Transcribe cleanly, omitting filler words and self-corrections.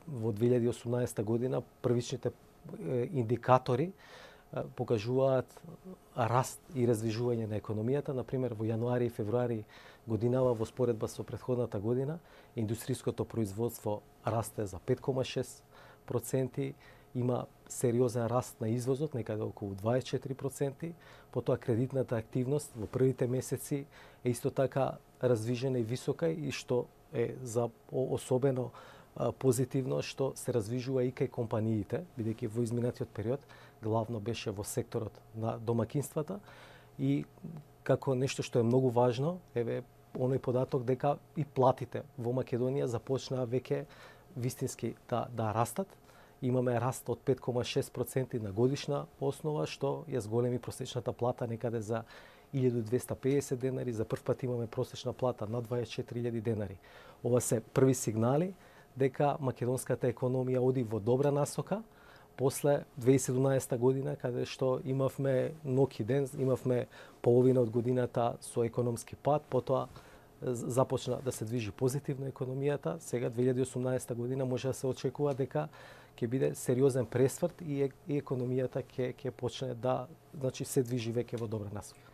во 2018 година првичните индикатори покажуваат раст и раздвижување на економијата. Например, во јануари и февруари годинава во споредба со претходната година, индустријското производство расте за 5,6%, има сериозен раст на извозот, некаде околу 24%, потоа кредитната активност во првите месеци е исто така раздвижена и висока и што е за особено позитивно што се раздвижува и кај компаниите, бидејќи во изминатиот период главно беше во секторот на домакинствата и како нешто што е многу важно, еве оној податок дека и платите во Македонија започнаа веќе вистински да растат. Имаме раст од 5,6% на годишна основа, што ја зголеми просечната плата некаде за 1250 денари, за прв пат имаме просечна плата на 24.000 денари. Ова се први сигнали дека македонската економија оди во добра насока, после 2017 година, каде што имавме ноќ и ден, имавме половина од годината со економски пад, потоа започна да се движи позитивно економијата. Сега 2018 година може да се очекува дека ќе биде сериозен пресврт и економијата ќе почне да, значи, се движи веќе во добра насока.